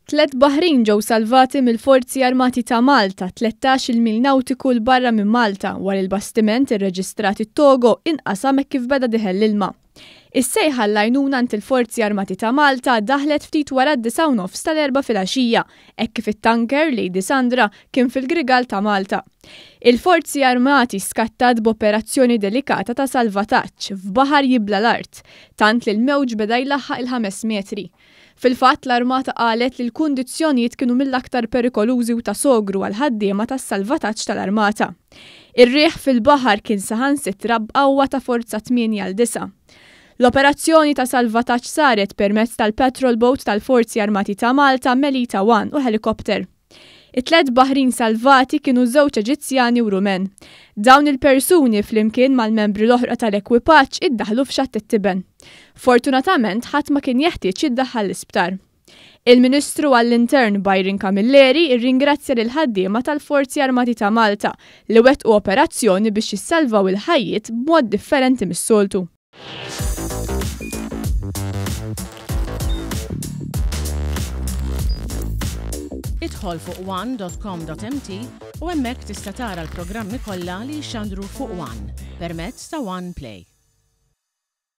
Tlett baħrin ġew salvati mill-Forzi Armati ta' Malta 13-il mil nawtiku 'l barra minn Malta wara li l-bastiment irreġistrat it-Togo inqasam hekk kif beda dieħel l-ilma. Is-sejħa għall-għajnuna għand il-Forzi Armati ta' Malta daħlet ftit wara d-disgħa u nofs tal-Erbgħa filgħaxija hekk kif it-tanker Lady Sandra kien fil-Grigal ta' Malta. Il-Forzi Armati skattat b'operazzjoni delikata ta' salvataġġ f'baħar jibla' l-art, tant li l-mewġ beda jlaħħaq il-ħames metri. Fil-fatt, l-Armata qalet li l-kundizzjonijiet kienu mill-aktar perikolużi u ta' sogru għall-ħaddiema tas-salvataġġ tal-Armata. Ir-riħ fil-baħar kien saħansitra b'qawwa ta' forza tmienja għal disgħa. L-operazzjoni ta' salvataġġ saret permezz tal-patrol boat tal-Forzi Armati ta' Malta Melita One u ħelikopter. It-tlett baħrin salvati kienu żewġ Eġizzjani u Rumen. Dawn il-persuni flimkien mal-membri l-oħra tal-ekwipaġġ iddaħħlu f'Xatt it-Tiben. Fortunatament ħadd ma kien jeħtieġ jiddaħħal l-isptar. Il-Ministru għall-Intern Byron Camilleri rringrazzja lill-ħaddiema tal-Forzi Armati ta' Malta li wettqu operazzjoni biex jissalvaw il-ħajjiet b'mod differenti mis-soltu. Idħol fuq one.com.mt u hemmhekk tista' tara l-programmi kollha li jixxandru fuq One permezz ta' One Play.